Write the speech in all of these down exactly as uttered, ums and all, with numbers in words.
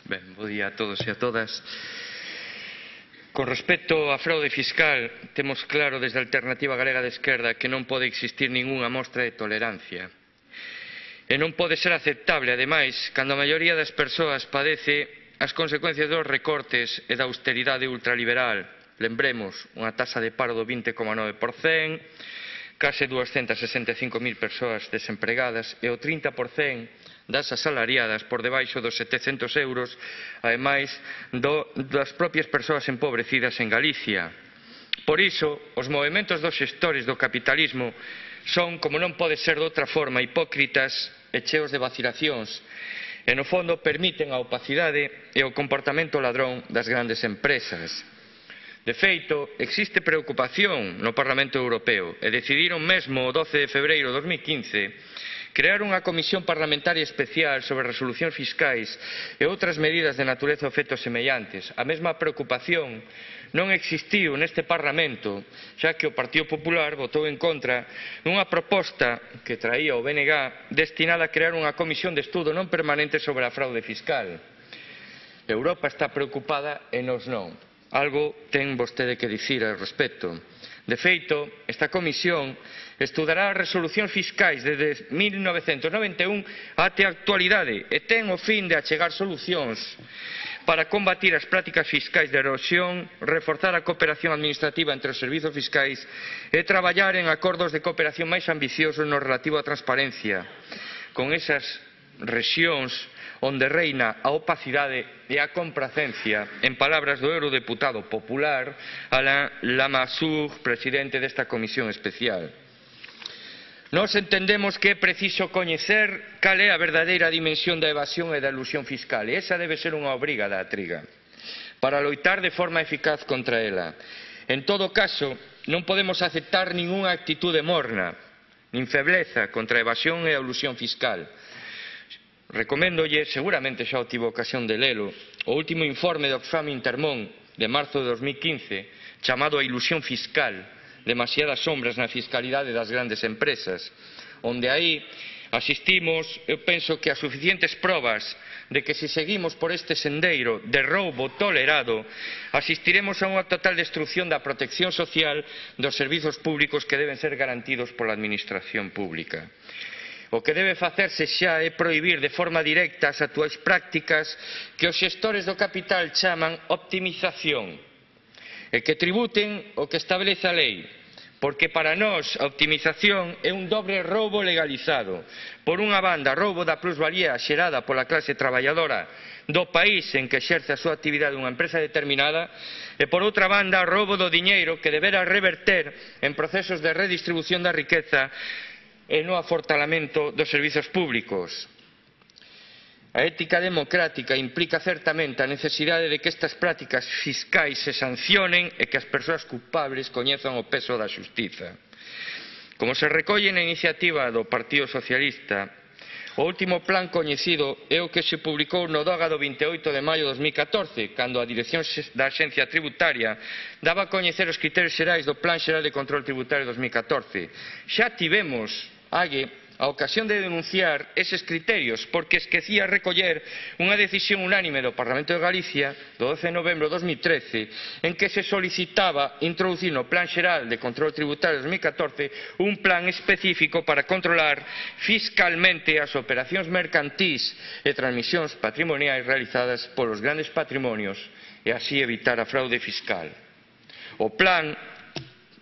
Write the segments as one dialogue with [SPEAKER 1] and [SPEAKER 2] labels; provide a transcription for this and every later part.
[SPEAKER 1] Ben, bo día a todos e a todas. Con respecto á fraude fiscal, temos claro desde a Alternativa Galega de Esquerda que non pode existir ningunha mostra de tolerancia. E non pode ser aceptable, ademais, cando a maioría das persoas padece as consecuencias dos recortes e da austeridade ultraliberal. Lembremos, unha taxa de paro do vinte coma nove por cento, case duascentas sesenta e cinco mil persoas desempregadas e o trinta por cento das asalariadas por debaixo dos setecentos euros, ademais do, das propias persoas empobrecidas en Galicia. Por iso, os movementos dos xestores do capitalismo son, como non pode ser de outra forma, hipócritas e cheos de vacilacións, e no fondo permiten a opacidade e o comportamento ladrón das grandes empresas. De feito, existe preocupación no Parlamento Europeo e decidiron mesmo o doce de febreiro de dos mil quince crear unha comisión parlamentaria especial sobre resolucións fiscais e outras medidas de natureza ou efectos semellantes. A mesma preocupación non existiu neste Parlamento, xa que o Partido Popular votou en contra dunha proposta que traía o B N G destinada a crear unha comisión de estudo non permanente sobre a fraude fiscal. Europa está preocupada e nós non. Algo ten vostede que dicir ao respecto. De feito, esta comisión estudará as resolucións fiscais desde mil novecentos noventa e un até a actualidade e ten o fin de achegar solucións para combatir as prácticas fiscais de erosión, reforzar a cooperación administrativa entre os servizos fiscais e traballar en acordos de cooperación máis ambiciosos no relativo á transparencia, con esas rexións onde reina a opacidade e a compracencia, en palabras do eurodeputado popular Alain Lamassoure, presidente desta comisión especial. Nós entendemos que é preciso coñecer cal é a verdadeira dimensión da evasión e da elusión fiscal, e esa debe ser unha obriga da triga, para loitar de forma eficaz contra ela. En todo caso, non podemos aceptar ningunha actitude morna, nin febleza contra a evasión e a elusión fiscal. Recoméndolle, seguramente xa o tivo ocasión de lelo, o último informe do Oxfam Intermón de marzo de dos mil quince, chamado a ilusión fiscal, demasiadas sombras na fiscalidade das grandes empresas, onde aí asistimos, eu penso que a suficientes probas de que se seguimos por este sendeiro de roubo tolerado, asistiremos a unha total destrucción da protección social dos servizos públicos que deben ser garantidos pola administración pública. O que debe facerse xa é prohibir de forma directa as actuais prácticas que os xestores do capital chaman optimización e que tributen o que establece a lei, porque para nós a optimización é un dobre roubo legalizado. Por unha banda, roubo da plusvalía xerada pola clase traballadora do país en que exerce a súa actividade unha empresa determinada e, por outra banda, roubo do diñeiro que debera reverter en procesos de redistribución da riqueza e no afortalamento dos servizos públicos. A ética democrática implica certamente a necesidade de que estas prácticas fiscais se sancionen e que as persoas culpables coñezan o peso da xustiza. Como se recolle na iniciativa do Partido Socialista, o último plan coñecido é o que se publicou no DOGA do vinte e oito de maio de dos mil catorce, cando a Dirección da Axencia Tributaria daba a coñecer os criterios xerais do Plan Xeral de Control Tributario de dos mil catorce. Xa tivemos Ague a ocasión de denunciar eses criterios porque esquecía recoller unha decisión unánime do Parlamento de Galicia do doce de novembro de dos mil trece en que se solicitaba introducir no Plan Xeral de Control Tributario de dos mil catorce un plan específico para controlar fiscalmente as operacións mercantís e transmisións patrimoniais realizadas polos grandes patrimonios e así evitar a fraude fiscal. O plan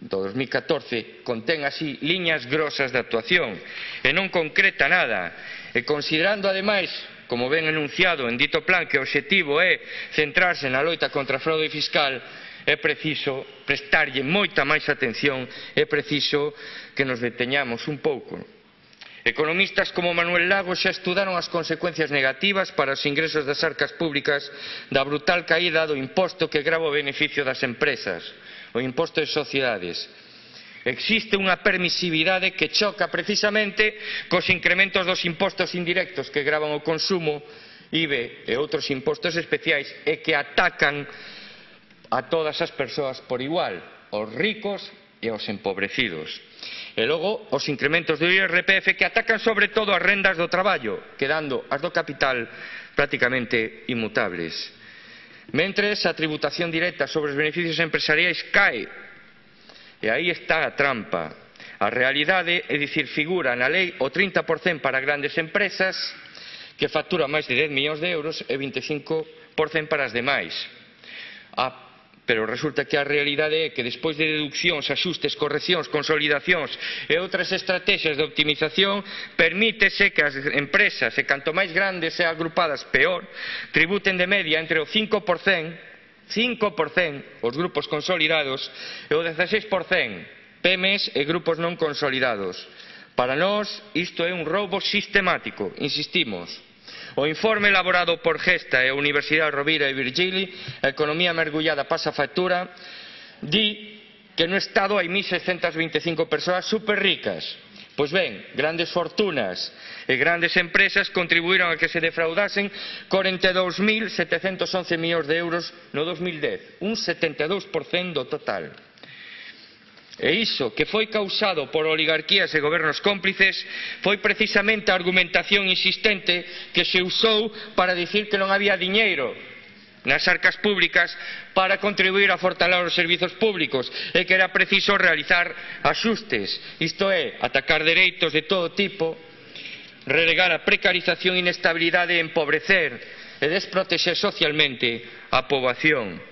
[SPEAKER 1] do dos mil catorce contén así liñas grosas de actuación e non concreta nada, e considerando ademais, como ben enunciado en dito plan, que o obxectivo é centrarse na loita contra a fraude fiscal, é preciso prestarlle moita máis atención, é preciso que nos deteñamos un pouco. Economistas como Manuel Lago xa estudaron as consecuencias negativas para os ingresos das arcas públicas da brutal caída do imposto que grava o beneficio das empresas, o imposto de sociedades. Existe unha permisividade que choca precisamente cos incrementos dos impostos indirectos que gravan o consumo, I V A e outros impostos especiais e que atacan a todas as persoas por igual, aos ricos e aos empobrecidos. E logo, os incrementos do I R P F que atacan sobre todo as rendas do traballo, quedando as do capital prácticamente inmutables. Mentres, a tributación directa sobre os beneficios empresariais cae. E aí está a trampa. A realidade, é dicir, figura na lei o trinta por cento para grandes empresas que facturan máis de dez millóns de euros e vinte e cinco por cento para as demais. A Pero resulta que a realidade é que despois de deduccións, axustes, correccións, consolidacións e outras estrategias de optimización, permítese que as empresas, e canto máis grandes e agrupadas peor, tributen de media entre o cinco por cento, cinco por cento os grupos consolidados e o dezaseis por cento pymes e grupos non consolidados. Para nós, isto é un roubo sistemático, insistimos. O informe elaborado por Gesta e a Universidade Rovira e Virgili, a economía mergullada pasa factura, di que no Estado hai mil seiscentas vinte e cinco persoas superricas. Pois ben, grandes fortunas e grandes empresas contribuíron a que se defraudasen corenta e dous mil setecentos once millóns de euros no dos mil dez, un setenta e dous por cento do total. E iso, que foi causado por oligarquías e gobernos cómplices, foi precisamente a argumentación insistente que se usou para dicir que non había diñeiro nas arcas públicas para contribuir a fortalar os servizos públicos e que era preciso realizar axustes, isto é, atacar dereitos de todo tipo, relegar a precarización e inestabilidade e empobrecer e desprotexer socialmente a poboación.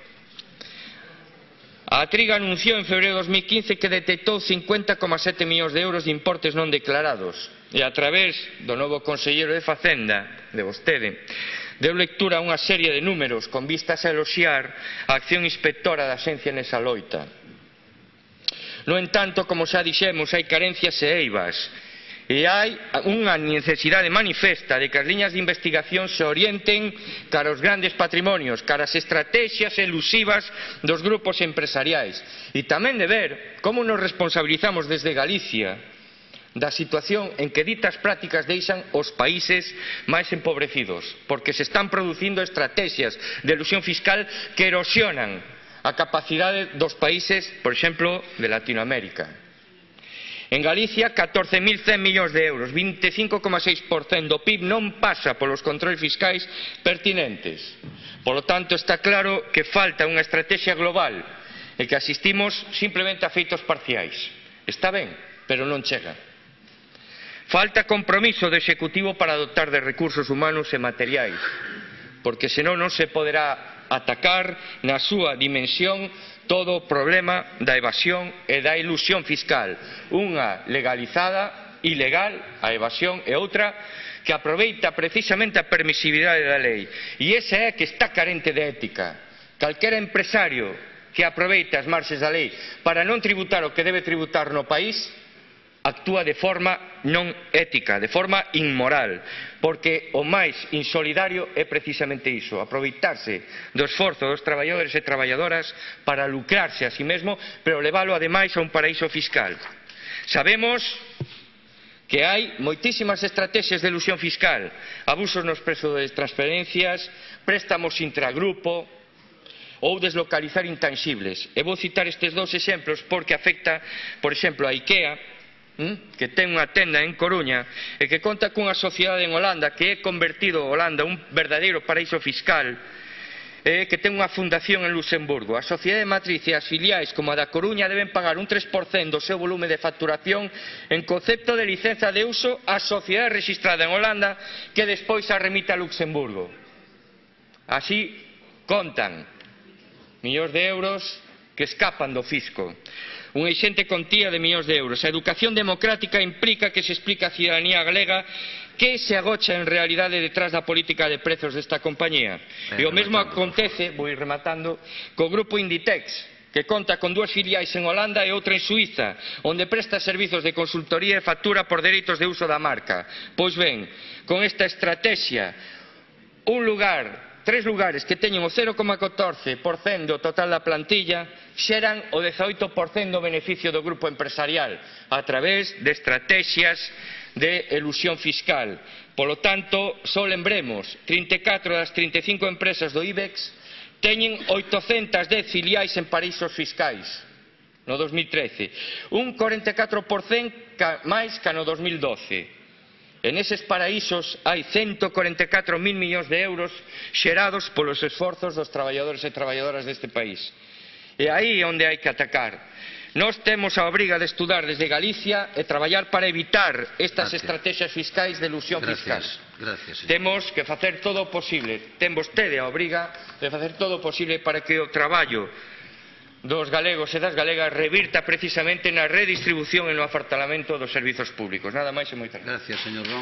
[SPEAKER 1] A Triga anunciou en febreiro de dos mil quince que detectou cincuenta coma sete millóns de euros de importes non declarados e a través do novo conselleiro de Facenda, de vostede, deu lectura a unha serie de números con vistas a eloxiar a acción inspectora da Axencia nesa loita. No entanto, como xa dixemos, hai carencias e eivas e hai unha necesidade manifesta de que as liñas de investigación se orienten cara aos grandes patrimonios, cara ás estrategias elusivas dos grupos empresariais e tamén de ver como nos responsabilizamos desde Galicia da situación en que ditas prácticas deixan os países máis empobrecidos, porque se están producindo estrategias de elusión fiscal que erosionan a capacidade dos países, por exemplo, de Latinoamérica. En Galicia, catorce mil cen millóns de euros, vinte e cinco coma seis por cento do P I B non pasa polos controles fiscais pertinentes. Polo tanto, está claro que falta unha estrategia global e que asistimos simplemente a feitos parciais. Está ben, pero non chega. Falta compromiso do Executivo para dotar de recursos humanos e materiais, porque senón non se poderá atacar na súa dimensión todo o problema da evasión e da ilusión fiscal, unha legalizada, ilegal, a evasión, e outra que aproveita precisamente a permisividade da lei. E esa é que está carente de ética. Calquera empresario que aproveita as marxes da lei para non tributar o que debe tributar no país, actúa de forma non ética, de forma inmoral, porque o máis insolidario é precisamente iso, aproveitarse do esforzo dos traballadores e traballadoras para lucrarse a si mesmo, pero leválo ademais a un paraíso fiscal. Sabemos que hai moitísimas estrategias de elusión fiscal, abusos nos prezos de transferencias, préstamos intragrupo ou deslocalizar intangibles. E vou citar estes dous exemplos porque afecta, por exemplo, a IKEA, que ten unha tenda en Coruña e que conta cunha sociedade en Holanda que é convertido Holanda un verdadeiro paraíso fiscal e que ten unha fundación en Luxemburgo. A sociedade matriz e as filiais como a da Coruña deben pagar un tres por cento do seu volume de facturación en concepto de licenza de uso á sociedade registrada en Holanda que despois a remite a Luxemburgo. Así contan millóns de euros que escapan do fisco. Unha exente contía de millóns de euros. A educación democrática implica que se explica á cidadanía galega que se agocha en realidade detrás da política de prezos desta compañía. E o mesmo acontece, vou ir rematando, co grupo Inditex, que conta con dúas filiais en Holanda e outra en Suiza, onde presta servizos de consultoría e factura por dereitos de uso da marca. Pois ben, con esta estrategia, un lugar tres lugares que teñen o cero coma catorce por cento do total da plantilla xeran o dezaoito por cento do beneficio do grupo empresarial a través de estrategias de elusión fiscal. Polo tanto, só lembremos, trinta e catro das trinta e cinco empresas do IBEX teñen oitocentas dez filiais en paraísos fiscais. no dos mil trece, un corenta e catro por cento máis que no dos mil doce. En eses paraísos hai ciento corenta e catro mil millóns de euros xerados polos esforzos dos traballadores e traballadoras deste país. E aí é onde hai que atacar. Nós temos a obriga de estudar desde Galicia e traballar para evitar estas
[SPEAKER 2] Gracias.
[SPEAKER 1] estrategias fiscais de elusión fiscal.
[SPEAKER 2] Gracias,
[SPEAKER 1] Temos que facer todo o posible, ten vostede a obriga de facer todo o posible para que o traballo dos galegos e das galegas revirta precisamente na redistribución e no afartalamento dos servizos públicos. Nada máis e moitas gracias.
[SPEAKER 2] Gracias, señor Ron.